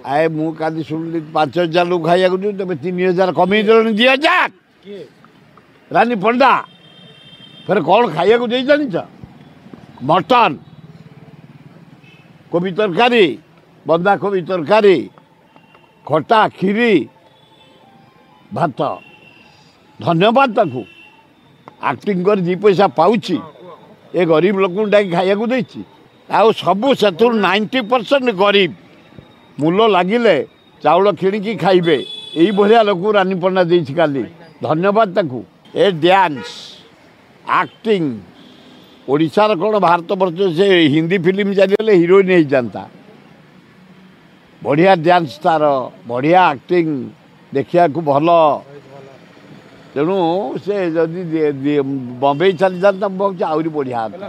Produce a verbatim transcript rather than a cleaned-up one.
ଆଏ, ମୁଁ କାଲି ଶୁଣିଲି ପାଞ୍ଚ ହଜାର ଲୋକ ଖାଇବାକୁ ଦିଅ, ତମେ ତିନି ହଜାର କମେଇ ଦେଲଣି, ଦୁଇ ହଜାର। ରାନୀ ପଣ୍ଡା ଫେରେ କ'ଣ ଖାଇବାକୁ ଦେଇ ଜାଣିଛ? ମଟନ୍, କୋବି ତରକାରୀ, ବନ୍ଧାକୋବି ତରକାରୀ, ଖଟା, କ୍ଷୀରି, ଭାତ। ଧନ୍ୟବାଦ ତାକୁ। ଆକ୍ଟିଂ କରି ଦୁଇ ପଇସା ପାଉଛି, ଏ ଗରିବ ଲୋକଙ୍କୁ ଡାକି ଖାଇବାକୁ ଦେଇଛି। ଆଉ ସବୁ ସେଥିରୁ ନାଇଣ୍ଟି ପରସେଣ୍ଟ ଗରିବ, ମୂଲ ଲାଗିଲେ ଚାଉଳ କିଣିକି ଖାଇବେ, ଏଇଭଳିଆ ଲୋକକୁ ରାନୀ ପଣ୍ଡା ଦେଇଛି କାଲି। ଧନ୍ୟବାଦ ତାକୁ। ଏ ଡ୍ୟାନ୍ସ, ଆକ୍ଟିଂ, ଓଡ଼ିଶାର କ'ଣ ଭାରତ ବର୍ଷ, ସେ ହିନ୍ଦୀ ଫିଲ୍ମ ଚାଲିଗଲେ ହିରୋଇନ୍ ହେଇଯାନ୍ତା। ବଢ଼ିଆ ଡ୍ୟାନ୍ସ ତାର, ବଢ଼ିଆ ଆକ୍ଟିଂ, ଦେଖିବାକୁ ଭଲ। ତେଣୁ ସେ ଯଦି ବମ୍ବେ ଚାଲିଯାନ୍ତା, ମୁଁ ଭାବୁଛି ଆହୁରି ବଢ଼ିଆ ହୁଅନ୍ତା।